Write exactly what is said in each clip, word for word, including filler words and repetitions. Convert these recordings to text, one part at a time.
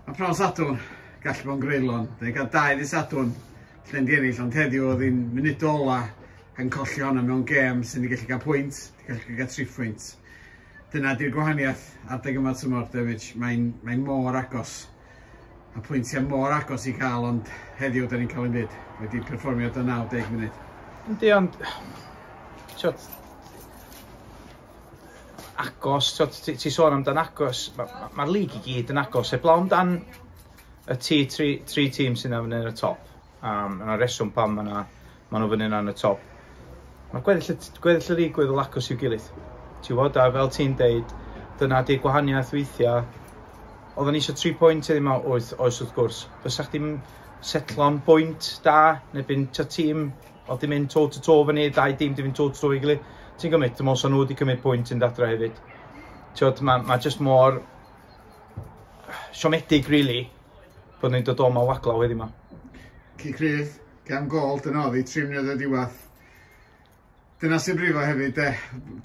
Mae pnawn Sadwrn gallu bod yn greulon. Da ni'n cael dau ddydd Sadwrn lle'n di ennill, ond heddiw oedd hi'n munud ola yn colli honna mewn gêm sy'n ni gallu cael pwynt, gallu cael tri phwynt. Dyna di'r gwahaniaeth adeg yma tymor, David. Mae'n mae mor agos. Mae pwyntiau mor agos i cael, ond heddiw da ni'n cael yn byd. Wedi perfformio do naw deg munud. Yndi, ond ti'od, agos, ti'od, ti, ti sôn amdan agos, mae'r ma, ma lig i gyd yn agos, heblaw amdan y tri, tri, tri tîm sy'n fyny yn y top. Um, yna reswm pam ma, na, ma nhw fyny yn y top. Mae'r gweddill, gweddill y lig gweddol agos i'w gilydd. Ti'n gwybod, a fel ti'n deud, dyna di'r gwahaniaeth weithiau. Oedden ni eisiau tri pwynt heddiw yma, oes, oes wrth gwrs. Fysa chdi'n setlo am bwynt da, neu byn ta tîm, oedd di mynd toe to toe fyny, dau dîm di mynd toe to toe i gilydd. Ti'n gymryd, dwi'n meddwl nhw wedi cymryd pwynt yn adra hefyd. Ti'n gwybod, mae ma just mor siomedig, really, bod ni'n dod o ma waglaw heddiw yma. Cic rydd, gan gol, dyna oedd hi, tri munud o diwedd. Dyna sy'n brifo hefyd, de.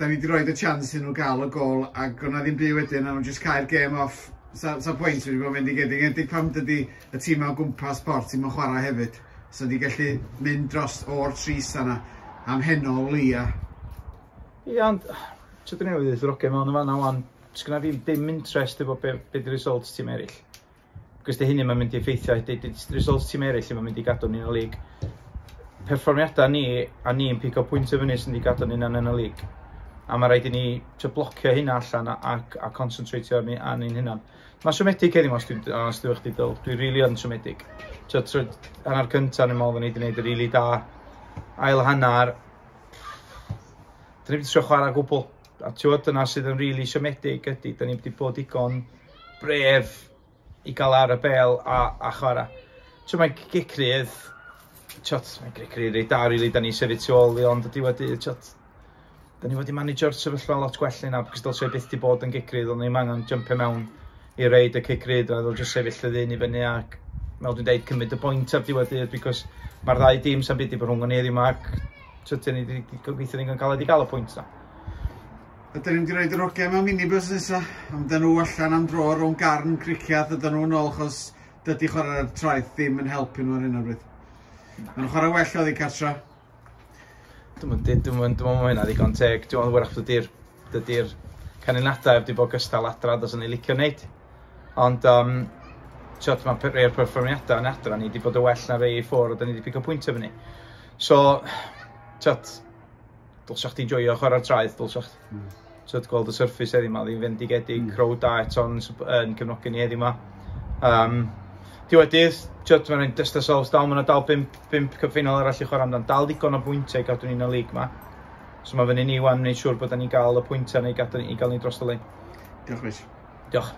Da ni wedi rhoi y chance iddyn nhw gael y gol, ac o'na ddim byd wedyn, a nhw'n just cael gêm off. Sa, sa pwynt wedi bod yn mynd i gyd, enwedig pam dydy y tîm o gwmpas Port ddim yn chwarae hefyd. So di gallu mynd dros o'r tris yna am heno o leia. Ie, ond, ti'n dyn newydd ddweud oce mewn yn fanna wan, sgynna fi dim interest efo be, be di results tîm eraill. Cos di hynny mae'n mynd i effeithio, di, di results tîm eraill mae'n mynd i gadw ni yn y lig. Perfformiadau ni, a ni'n pigo pwyntio fyny sy'n di gadw ni yn y lig. A mae rhaid i ni trio blocio hynna allan a, a, a concentratio ar ni, ar ni'n hynna. Mae'n siomedig heddiw, os dwi'n os dwi'n chdi Dyl. Dwi'n rili yn siomedig. Tio, trwy hanner cyntaf, ni'n meddwl ni wedi gwneud y rili da. Ail hanner, dyn ni wedi trio chwarae gwbl. A ti'n gwybod, dyna sydd yn rili siomedig ydy, dyn ni wedi bod digon brave i gael ar y bel a, a chwarae. Ti'n mae'n gic rydd, ti'od, mae'n gic rydd reit da, rili, da ni sefyll tu ôl i, ond y diwedd dydd, ti'od, da ni wedi managio'r sefyllfa lot gwell na, because dylse byth di bod yn gic rydd, ond ni'n angen jumpio mewn i reid y cic rydd, a ddol just sefyll y ddyn i fyny ac, fel dwi'n deud, cymryd y bwynt ar diwedd dydd, because mae'r ddau dîm sa'n byd i bod rhwng ni heddiw yma, ac ti'od, ni wedi gobeithio ni'n cael wedi gael y pwynt na. Ydyn ni'n wedi rhoi yr hogiau mewn minibus nesa, ond dyn nhw allan am dro rhwng Garn, Cricieth, ydyn nhw'n ôl, chos dydy chwarae'r traeth ddim yn helpu nhw ar hyn o bryd. Maen nhw'n chwarae well oddi cartra. Dwi'n mynd, dwi'n mynd, dwi'n mynd hynna ddigon teg. Dwi'n meddwl wrach dydy'r dydy'r canlyniadau wedi bod gystal adra dos o'n i licio wneud. Ond, um, ti'od, mae rhai o'r perfformiadau yn adra ni wedi bod yn well na rei i ffwrdd, a da ni wedi pigo pwyntio fyny. So, ti'od, dylsa chdi'n joio chwarae'r traeth, dylsa chdi. Mm. Ti'od, gweld y surface heddiw 'ma, ddim fendigedig, mm. crowd da eto'n yn cefnogi ni heddiw 'ma. Um, diwedd dydd, ti'od, mae'n dust ourselves dal, mae'n dal bump, bump cup final arall i chwarae amdan, dal digon o bwyntiau i gadw ni'n y lig 'ma. So mae fyny ni wan wneud siŵr bod ni'n gael y pwyntiau neu gadw, i gael ni dros y lein. Diolch, Rich. Diolch.